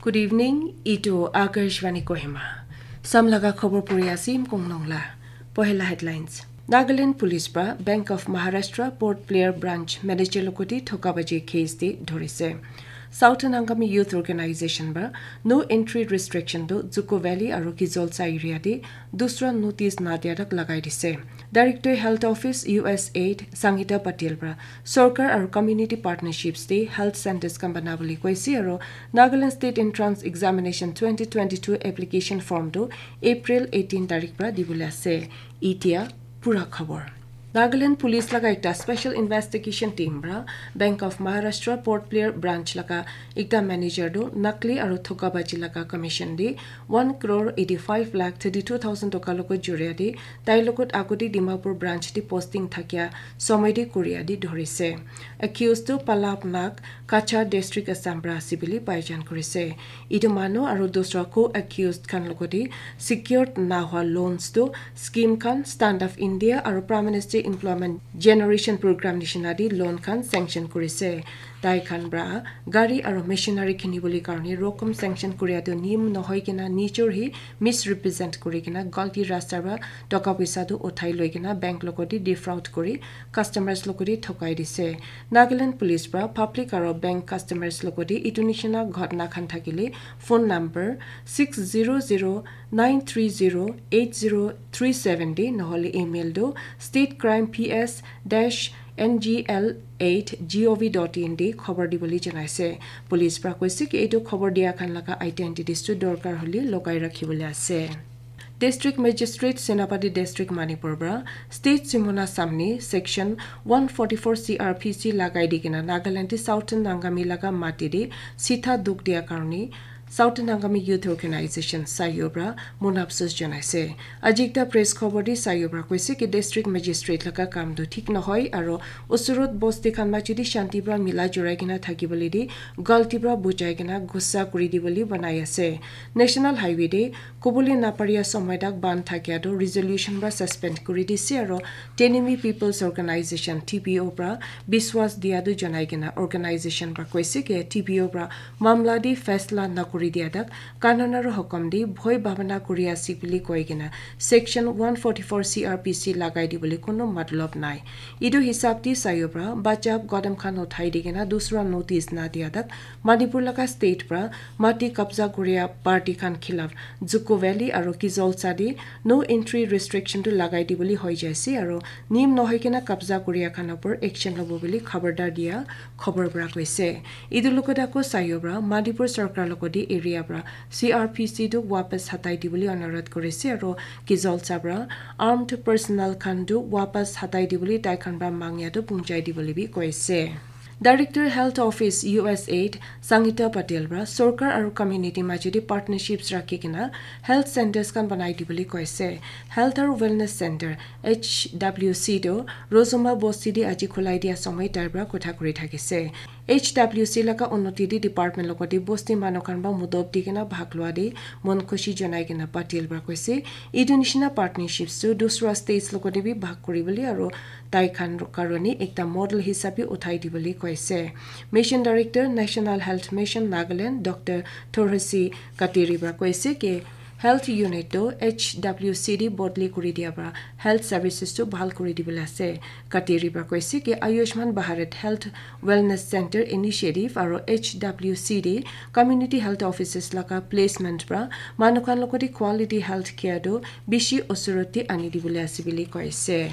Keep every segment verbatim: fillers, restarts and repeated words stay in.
Good evening, itu Akashvani Kohima. Samlaga khobor puri asim kongnong la. Pohela headlines. Nagaland Police pra Bank of Maharashtra Port Blair Branch Manager logoti thokabaji case de dhorise. Southern Angami Youth Organization pra no entry restriction do Zuko Valley aru Kizolsa area de dusra notice na dia tak lagai dise. Director Health Office U S aid Sangita Patil pra Sorkar aru community partnerships te health centers khan bana bole koise aru Nagaland State Entrance Examination twenty twenty-two application form tu April eighteen tarik pra dibole ase. Itia pura khobor. Nagaland Police laga ekta special investigation team pra Bank of Maharashtra Port Blair branch laga ekta manager tu nakli aru thokabaji laga commission de one crore eighty-five lakh thirty-two thousand toka logot juria de tai logot agodi Dimapur branch de posting thakia somoi de kuria de dhorise. Accused tu Palab Nag, Cachar District, Assam pra ase bili paijan kurise. Itu manu aru dusra co-accused khan logoti secured na hua loans tu scheme khan Stand Up India aru Prime Minister Employment Generation Program nishina di loan khan sanction kurise. Tai khan pra gari aru machinery kini bole karne rokom sanction kuria tu niyam nohoi kena nijor hi misrepresent kuri kena galti rasta pra toka poisa tu uthai loi kena bank logoti defraud kuri customers logoti thokai dise. Nagaland Police pra public aru bank customers logoti itu nishina ghotna khan thakile phone number six zero zero nine three zero eight zero three seven de nohole email do state crime P S dash N G L eight G O V dot in de khobor dibole janaise. Police pra koise ki etu khobor dia khan laga identities tu dorkar hole logai rakhi bole ase. District Magistrate Senapati District Manipur pra State Simona Samni Section one forty-four C R P C lagai di kena Nagaland te Southern Angami laga mati de sitha duk dia karne Southern Angami Youth Organization Sayo pra mon afsos janaise. Aji ekta press khobor de Sayo pra koise ki District Magistrate laga kam tu thik nohoi aru usurot bosti khan maji de shanti pra mila jurai kena thaki bole de galti pra bujai kena gussa kuri di bole banai ase. National Highway de kobole naparia somoi tak ban thakia tu resolution pra suspend kuri dise aru Tenimi People's Organization T P O pra biswas dia tu janai kena organization pra koise ki T P O pra mamla de faisla na kuri dia tak kanun aru hukum de bhoi bhabana kuri ase bili koi kena Section one forty-four C R P C lagai di bole kono matlab nai. Itu hisab de Sayo pra bachap gadam khan uthai di kena dusra notice na dia tak Manipur laga state pra mati kabza kuria party khan khilaf Zuko Valley aru Kizolsa de no entry restriction tu lagai di bole hoi jaise aru niyam nohoi kena kabza kuria khan upor action lobo bole khabardar dia khobor pra koise. Itu logot ako Sayo pra Manipur Sorkar logoti area pra C R P C tu wapas hatai di bole anurodh kurise aru Kizolsa pra armed personnel khan tu wapas hatai di bole tai khan pra mangya tu punjai di bole bi koise. Director Health Office U S aid Sangita Patel pra Sorkar aru community maji de partnerships rakhi kena health centers khan banai di bole koise. Health aru Wellness Center H W C tu Rozoma Bosti de aji khulai dia somoi tai pra kotha kuri thakise. H W C laga unnoti de department logoti bosti manu khan pra mudot di kena bhag lua de mon khushi janai kena Patel pra koise. Itu nishina partnerships tu dusra states logoti bi bhag kuri bole aru tai khan karone ekta model hisabe uthai di bole koise. Mission Director National Health Mission Nagaland Doctor Thorhasi Kateri pra koise ki health unit tu H W C de bodli kuri dia pra health services tu bhal kuri di bole ase. Kateri pra koise ki Ayushman Bharat Health Wellness Center Initiative aru H W C de community health offices laga placement pra manu khan logoti quality health care tu bishi usurot de ani di bole ase bole koise.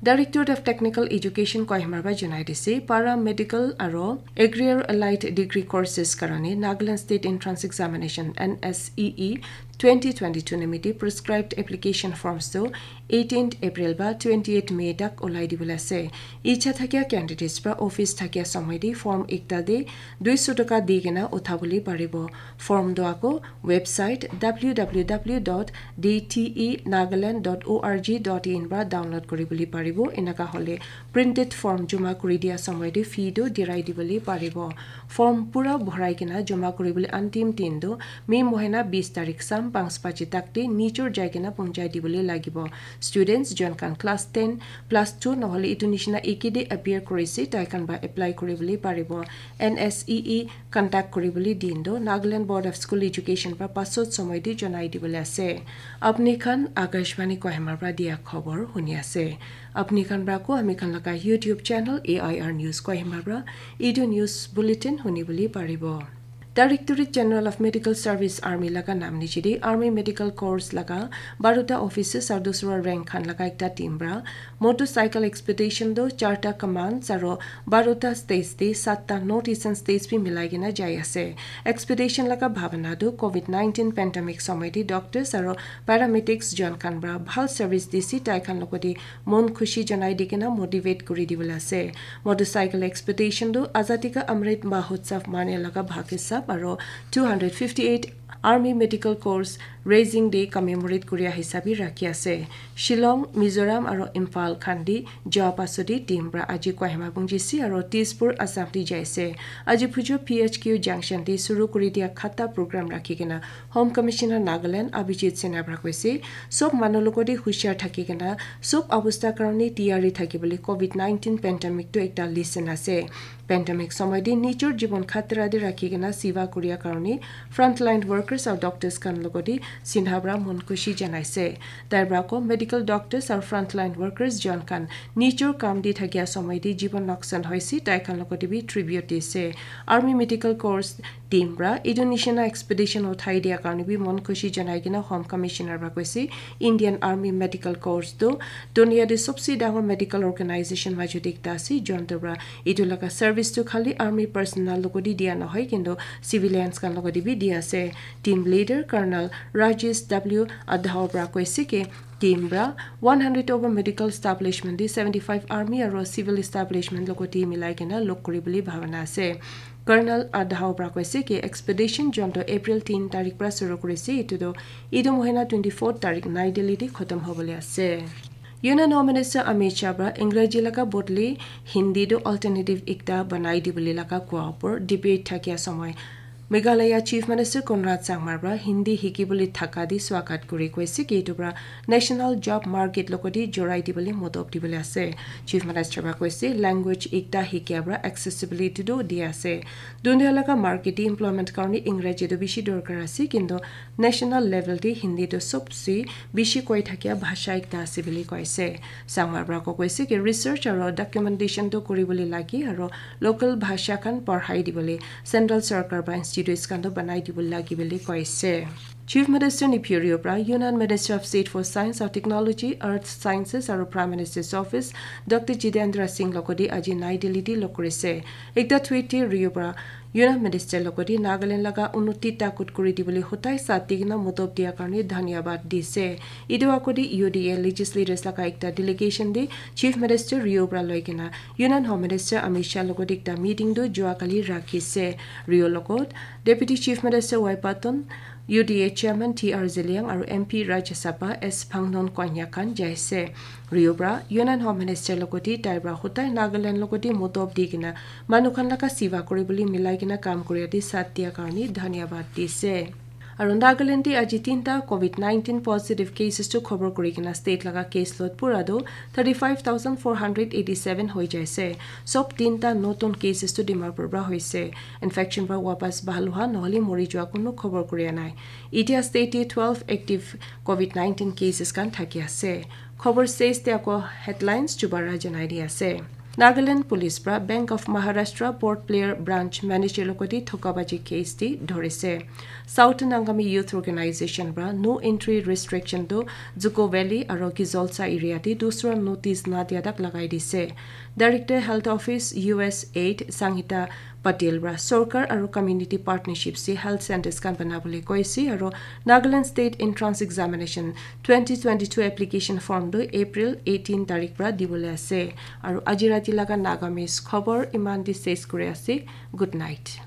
Directorate of Technical Education Kohima pra janai dise para medical aru agri allied degree courses karone Nagaland State Entrance Examination N S E E twenty twenty-two nimite prescribed application forms tu eighteenth April ba twenty-eighth May tak ulai di bole ase. Icha thakia candidates pra office thakia somoi de form ekta de duiso toka di kena utha bole paribo. Form tu ako website W W W dot D T E Nagaland dot O R G dot in pra download kuri bole paribo. Bo enaka hole printed form joma kuri dia samoi te fee tu dirai dibole paribo. Form pura bhorai kena joma kuribole antim din tu May mohina bis tarik sam panch baji tak te nijor jai kena punjai dibole lagibo. Students jon khan class ten plus two nohole itu nishina eke de appear kurise tai khan ba apply kuribole paribo. N S E E contact kuribole din tu Nagaland Board of School Education pra pasot samoi te jonai dibole ase. Apni khan Akashvani Kohima pra dia khobor huni ase. Apni khan pra ko ami khan laga YouTube channel A I R News Kohima pra etu news bulletin huni bole paribo. Directorate General of Medical Service Army laga nam niche de Army Medical Corps laga baruta officers aru dusra rank khan laga ekta team pra motorcycle expedition tu charta commands aru baruta states de satta North Eastern states bi milai kena jai ase. Expedition laga bhabana tu covid nineteen pandemic samoi de doctors aru paramedics jon khan pra bhal service dise tai khan logote mon khushi janai di kena motivate kuri dibole ase. Motorcycle expedition tu Azadi Ka Amrit Mahotsav mane laga bhag hisab aru two hundred fifty eight Army Medical Corps Raising Day commemorate kuria hisabi rakhi ase. Shillong, Mizoram aru Imphal khan di jua pasodi team pra aji Kohima punjisi aru Tezpur Assam di jaise. Aji phujo P H Q junction di suru kuri dia khata program rakhi kena Home Commissioner Nagaland Abhijit Sinha pra koise, sob manu logote hushar thaki kena sob abostha karone tiyari thaki bole covid nineteen pandemic tu ekta lesson ase. Pandemic samoi de nijor jibon khatra de rakhi kena siva kuria karone frontline workers aru doctors khan logote Sinha pra mon khushi janaise. Tai pra ko medical doctors aru frontline workers jon khan nijor kam de thakia samoi de jibon noksan hoise tai khan logote bi tribute dise. Army Medical Corps team pra etu nishina expedition uthai dia karone bi mon khushi janai kena Home Commissioner pra koise Indian Army Medical Corps tu dunia de sobse dangor medical organization majot ekta ase. Jon tu pra etu laga service tu khali army personnel logote dia nohoi kintu civilians khan logote bi dia ase. Team leader Colonel Rajesh W Adhao pra koise ki team pra one hundred over medical establishment de seventy five army aru civil establishment logote milai kena log kuri bole bhabana ase. Colonel Adhao pra koise ki expedition jon tu April tin tarik pra suru kurise, etu tu etu mohina twenty four tarik Nai Delhi de khotom hobole ase. Union Home Minister Amit Shah pra Engraji laga bodli Hindi tu alternative ekta banai dibole laga koa upor debate thakia samoi Meghalaya Chief Minister Conrad Sangma pra Hindi hiki bole thaka di swagat kuri koise ki etu pra national job market logote jorai dibole modop dibole ase. Chief Minister pra koise language ekta hikia pra accessibility tu di ase. Dunia laga market de employment karone Engraji tu bishi dorkar ase kintu national level de Hindi tu sobse bishi koi thakia bhasha ekta ase bole koise. Sangma pra ko koise ki research aru documentation tu kuri bole lage aru local bhasha khan padhai dibole central sarkar ba institutes khan tu banai dibole lage bole koise. Chief Minister Neiphiu Rio pra Union Minister of State for Science and Technology, Earth Sciences aru Prime Minister's Office Doctor Jitendra Singh logote aji Nai Delhi de log kurise. Ekta tweet de Rio pra Union Minister logote Nagaland laga unnoti takut kuri dibole hotai sat di kena modop dia karone dhanyabad dise. Etu agodi U D A legislators laga ekta delegation de Chief Minister Rio pra loi kena Union Home Minister Amit Shah logote ekta meeting tu jua kali rakhise. Rio logot Deputy Chief Minister Y Patton, U D A Chairman T R Zeliang aru M P Rajya Sabha S Phangnon Konyak khan jaise. Rio pra Union Home Minister logote tai pra hotai Nagaland logote modop di kena manu khan laga siva kuri bole milai kena kam kuria de sat dia karone dhanyabad dise. Aru Nagaland de aji tinta covid nineteen positive cases tu khobor kuri kena state laga case load pura tu thirty five thousand four hundred eighty seven hoi jaise. Sob tinta notun cases tu Dimapur pra hoise. Infection pra wapas bhal hua nohole mori jua kunu khobor kuria nai. Etia state de twelve active covid nineteen cases khan thaki ase. Khobor ses te ako headlines dubara janai di ase. Nagaland Police pra Bank of Maharashtra Port Blair Branch Manager logote thokabaji case de dhorise. Southern Angami Youth Organization pra no entry restriction tu Zuko Valley aru Gizolsa area de dusra notice na dia tak lagai dise. Director Health Office U S eight Sanghita Patel pra sorkar aru community partnership se health centers khan banabole koise aru Nagaland State Entrance Examination twenty twenty-two application form tu April eighteen tarik pra dibole ase. Aru aji rati laga Nagamese khobor iman de ses kuri ase. Good night.